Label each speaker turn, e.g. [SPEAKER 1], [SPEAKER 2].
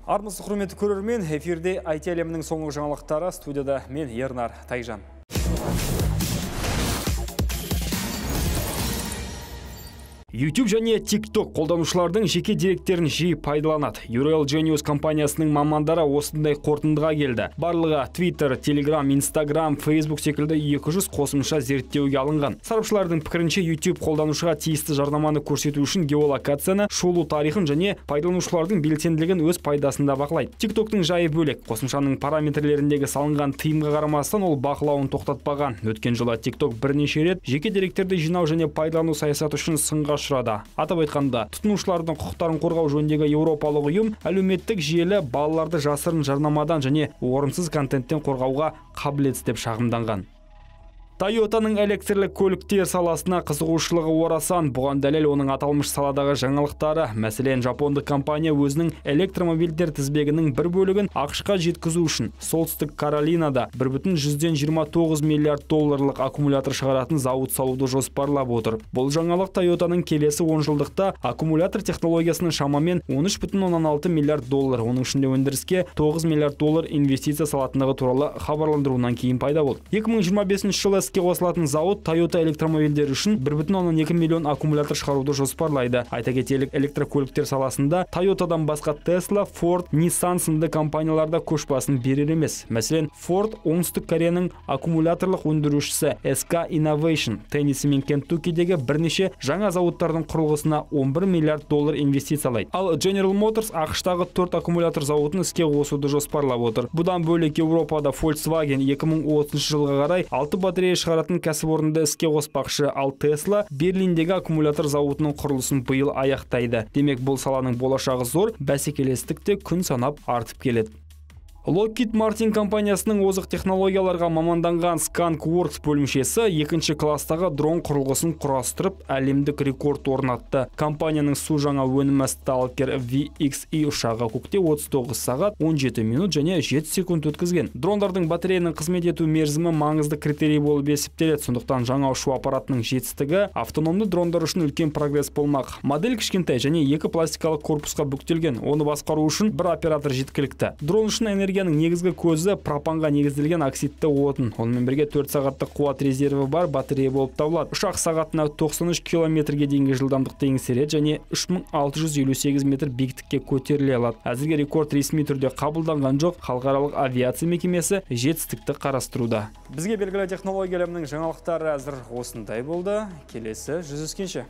[SPEAKER 1] Армысыз құрметті көрермен, эфирде IT әлемінің соңғы жаңалықтары, студияда мен Ернар Тайжан. YouTube және TikTok қолданушылардың жеке деректерін жиі пайдаланады. Ural Genius компаниясының мамандары осындай қорытындыға келді. Барлығы Twitter, Telegram, Instagram, Facebook секілді 200 қосымша зерттеуге алынған. Сарапшылардың пікірінше YouTube қолданушыға тиісті жарнаманы көрсету үшін геолокацияны, шолу тарихын және пайдаланушылардың белсенділігін өз пайдасында бақылайды. TikToktың жайы бөлек. Қосымшаның параметрлеріндегі салынған тыйымға қарамастан ол бақылауын тоқтатпаған. Өткен жылы TikTok бірнеше рет жеке деректерді жинау және пайдалану саясаты үшін сынға ұшырады. Атап айтқанда, тұтынушылардың құқықтарын қорғау жөніндегі еуропалық ұйым әлеуметтік желі балаларды жасырын жарнамадан және орынсыз контенттен қорғауға қабілетсіз деп шағымданған. Toyotаның электрлік көліктер саласына қызығушылығы орасан. Бұған дәлел оның аталмыш саладағы жаңалықтары. Мәселен, жапондық компания өзінің электромобильдер тізбегінің бір бөлігін ақш-қа жеткізу үшін Солтүстік Каролинада 1,29 миллиард долларлық аккумулятор шығаратын зауыт салуды жоспарлап отыр. Бұл жаңалық Toyotаның келесі 10 жылдықта аккумулятор технологиясының шамамен 13,6 миллиард доллар, оның ішінде өндіріске 9 миллиард доллар инвестиция салатындығы туралы хабарландыруынан кейін пайда болды. 2025 жылы іске қосылатын зауыт Toyota электромобильдер үшін 1,2 миллион аккумулятор шығаруды жоспарлайды. Айта кетелік, электрокөліктер саласында Toyotадан басқа Tesla, Ford, Nissan сынды компанияларда көшбасын берер емес. Мәселен, Ford оңтүстік Кореяның аккумуляторлық өндірушісі SK Innovation Теннесси мен Кентуккидегі бірнеше жаңа зауыттардың құрылғысына 11 миллиард доллар инвестициялайды. Ал General Motors ақш-тағы 4 аккумулятор зауытын іске қосуды жоспарлап отыр. Бұдан бөлек Еуропада Volkswagen 2030 жылға қарай 6 батарея шығаратын кәсіпорынды іске қоспақшы, ал Tesla Берлиндегі аккумулятор зауытының құрылысын биыл аяқтайды. Демек, бұл саланың болашағы зор, бәсекелестік те күн санап артып келеді. Lockheed Martin компаниясының озық технологияларға маманданған Skunk Works бөлімшесі екінші кластағы дрон құрылғысын құрастырып, әлемдік рекорд орнатты. Компанияның су жаңа өнімі Stalker VXE ұшағы көкте 39 сағат 17 минут және 7 секунд өткізген. Дрондардың батареяның қызмет ету мерзімі маңызды критерий болып есептеледі. Сондықтан жаңа ұшу аппаратының жетістігі автономды дрондар үшін үлкен прогресс болмақ. Модель кішкентай және екі пластикалық корпусқа бүктелген. Оны басқару үшін бір оператор жеткілікті. Дрон үшін энергияның негізгі көзі пропанға негізделген оксидті отын. Онымен бірге 4 сағаттық қуат резерві бар батарея болып табылады. Ұшақ сағатына 93 километрге дейінгі жылдамдықты еңсереді және 3658 метр биіктікке көтеріле алады. Әзірге рекорд ресми түрде қабылданған жоқ. Халықаралық авиация мекемесі жетістікті қарастыруда. Бізге белгілі технология әлемінің жаңалықтары әзір осындай болды. Келесі жүздескенше.